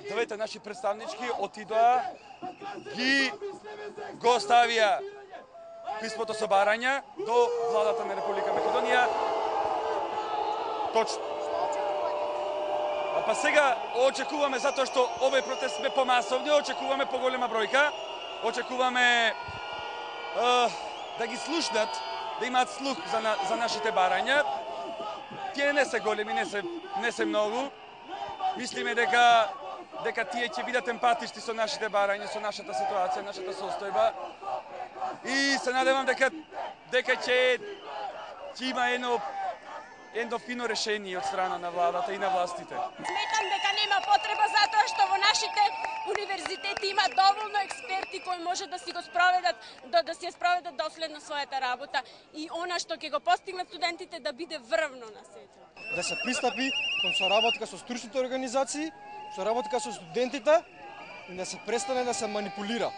двете наши представнички отидоа, ги го ставија писмото со барање до владата на Република Македонија. Точно. Па сега очекуваме, затоа што овој протест бе помасовни, очекуваме поголема бројка, очекуваме да ги слушнат, да имаат слух за нашите барања. Тие не се големи, не се многу. Мислиме дека тие ќе бидат емпатични со нашите барања, со нашата ситуација, нашата состојба. И се надевам дека ќе има едно фино решение од страна на владата и на властите. Сметам дека нема потреба затоа што во нашите универзитети има доволно експерти кои може да си го спроведат, да си ја спроведат доследно својата работа и она што ќе го постигнат студентите да биде врвно на сето. Да се пристапи кон соработка со стручните организации, соработка со студентите и да се престане да се манипулира.